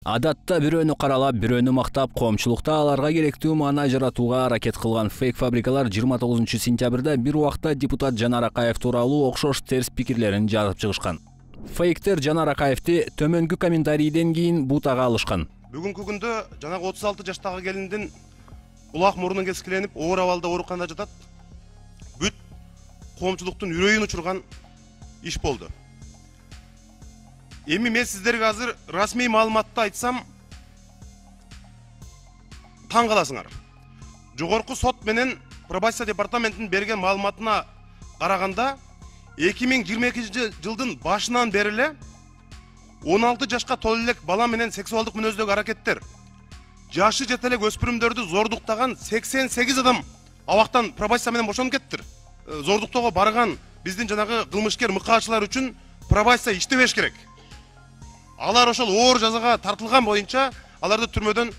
Адатта бирөөнү каралап, бирөөнү мактап, коомчулукта аларга керектүү маана жаратууга аракет кылган фейк фабрикалар 29 сентябрда бир убакта депутат Жанар Акаев тууралуу окшош терс пикирлерин жазып чыгышкан. Фейктер Жанар Акаевти төмөнгү комментарийден кийин бутага алышкан. Бүгүнкү күндө жанагы 36 жаштагы келиндин улак мурунун кескиленип, оор абалда ооруканада жатат. Бүт коомчулуктун үрөйүн учурган иш болду. Эми мен сиздерге азыр расмий маалыматты айтсам таң каласыңар. Жогорку сот менен пробация департаментинин берген маалыматына караганда 2022 жылдын башынан бери эле 16 жашка толо элек бала менен сексуалдык мүнөздөгү аракеттер, жашы жете элек өспүрүмдөрдү зордуктаган 88 адам абактан пробация менен бошонуп кеттир. Зордуктоого барган биздин жанагы кылмышкер мыкаачылар үчүн пробация иштебеш керек. Алар ошол оор жазага тартылган боюнча аларды түрмөдөн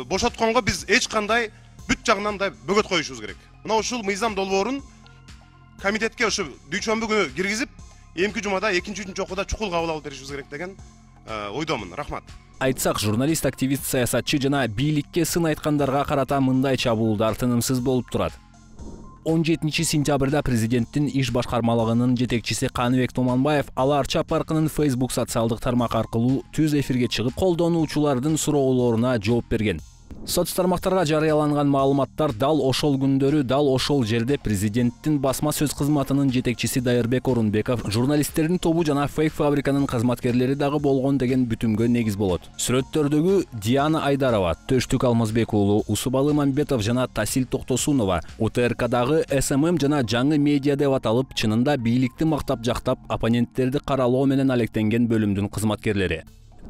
бошотконго биз эч кандай бүт жагынан да бөгөт коюшубуз керек. Мына ушул мыйзам долбоорун комитетке ошо дүйшөмбү күнү киргизип, эмки жумада 2-3 окууда чукул кабыл алып беришибиз керек деген ойдомун. Рахмат. Айтсак, журналист, активист, саясатчы жана бийликке сын айткандарга карата мындай чабуулдар тынымсыз болуп турат. 17 сентябрда президенттин иш башкармалыгынын жетекчиси Каныбек Томонбаев Ала Арча паркынын Facebook социалдык тармак аркылуу түз эфирге чыгып, колдонуучулардын суроолоруна жооп берген. Соц тармактарга жарыяланган маалыматтар дал ошол күндөрү, дал ошол жерде президенттин басма сөз кызматынын жетекчиси Дайырбек Орунбеков, журналисттердин тобу жана фейк фабриканын кызматкерлери дагы болгон деген бүтүмгө негиз болот. Сүрөттөрдөгү Диана Айдарова, Төштүк Алмазбек уулу, Усубалы Мамбетов жана Тасил Токтосунова УТРКдагы СММ жана жаңы медиа деп аталып, чынында бийликти мактап жактап, оппоненттерди каралоо менен алектенген бөлүмдүн кызматкерлери.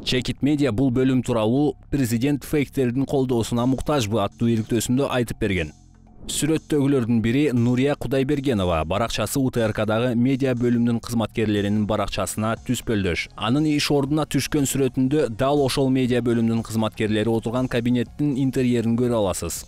Чекит медиа бул бөлүм тууралуу президент фейктердин колдоосуна муктажбы аттуу иликтөөсүндө айтып берген. Сүрөттөгүлөрдүн бири Нурия Кудайбергенова, баракчасы УТРКдагы медиа бөлүмүнүн кызматкерлеринин баракчасына түспөлдөш. Анын иш ордуна түшкөн сүрөтүндө дал ошол медиа бөлүмүнүн кызматкерлери отурган кабинеттин интерьерин көрө аласыз.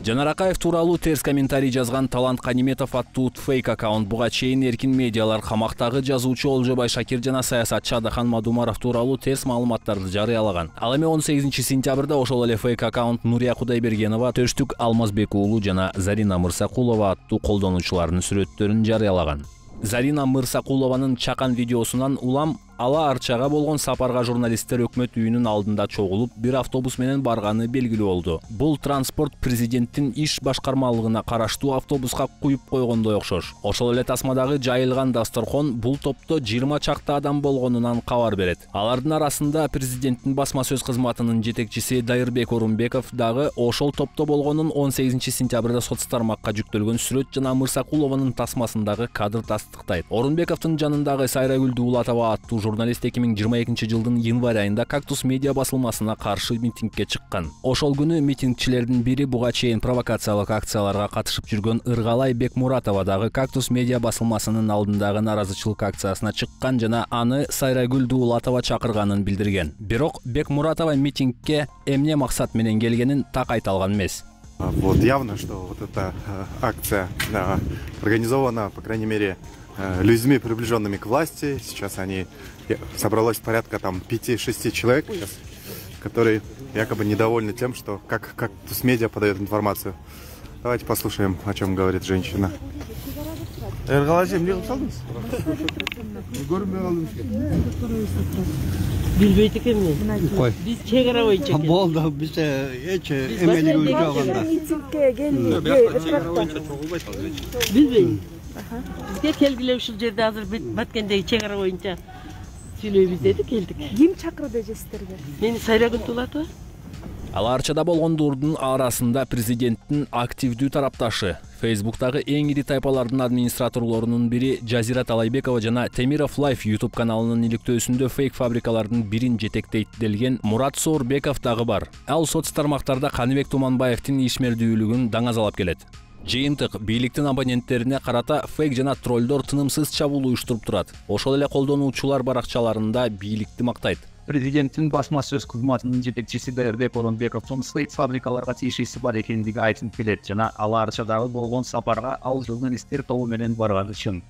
Жанар Акаев тууралуу терс комментарий жазган Талант Каниметов аттуу фейк аккаунт буга чейин эркин медиалар, камактагы жазуучу Олжобай Шакир жана саясатчы Адахан Мадумаров тууралуу терс маалыматтарды жарыялаган. Ал эми 18 сентябрда ошол эле фейк аккаунт Нурия Кудайбергенова, Төштүк Алмазбек уулу жана Зарина Мырсакулова аттуу колдонуучулардын сүрөттөрүн жарыялаган. Зарина Мырсакулованын чакан видеосунан улам Ала Арчага болгон сапарга журналисттер өкмөт үйүнүн алдында чогулуп, бир автобус менен барганы белгилүү болду. Бул транспорт президенттин иш башкармалыгына караштуу автобуска куюп койгондой окшош. Ошол эле тасмадагы жайылган дасторкон бул топто 20 чакты адам болгонунан кабар берет. Алардын арасында президенттин басма сөз кызматынын жетекчиси Дайырбек Орунбеков дагы ошол топто болгонун 18 сентябрда соц тармакка жүктөлгөн сүрөт жана Мырсакулованын тасмасындагы кадр тастыктайт. Орунбековдун жанындагы Сайрагүл Дуулатова аттуу журналист 2022 жылдын январь айында Кактус медиа басылмасына каршы митингге чыккан. Ошол күнү митингчилердин бири буга чейин провокациялык акцияларга катышып жүргөн Ыргалай Бекмуратова дагы Кактус медиа басылмасынын алдындагы наразычылык акциясына чыккан жана аны Сайрагүл Дуулатова чакырганын билдирген. Бирок Бекмуратова митингге эмне максат менен келгенин так айта алган эмес. Вот явно, что вот эта акция организована, по крайней мере, людьми, приближенными к власти. Сейчас собралось порядка 5-6 человек, которые якобы недовольны тем, что как Кактус медиа подает информацию. Давайте послушаем, о чем говорит женщина. Билбейт экенмин. Биз чек ара боюнча. Болду, биз эч эмелиги жок анда. Билбейм. Бизге келгиле ушул жерде азыр баткендеги чек ара боюнча сүйлөйбүз деди, келдик. Ким чакырды сиздерди? Мени Сайрагүл Дуулатова. Ала Арчада болгондордун арасында президенттин активдүү тарапташы, Facebook'тагы эң ири тайпалардын администраторлорунун бири Жазира Талайбекова жана Темиров Life YouTube каналынын иликтөөсүндө фейк фабрикалардын бирин жетектейт делген Мурат Соорбеков дагы бар. Ал соц тармактарда Каныбек Томонбаевдин ишмердүүлүгүн даңазалап келет. Жыйынтык бийликтин абоненттерине карата фейк жана троллдор тынымсыз чабуул уюштуруп турат. Ошол эле колдонуучулар баракчаларында бийликти мактайт. Президенттин басма сөз кызматынын жетекчиси Дайырбек Орунбековдун фейк фабрикаларга тиешеси бар экендиги айтылып келет жана Ала Арчадагы болгон сапарга ал журналисттер тобу менен барганы чын.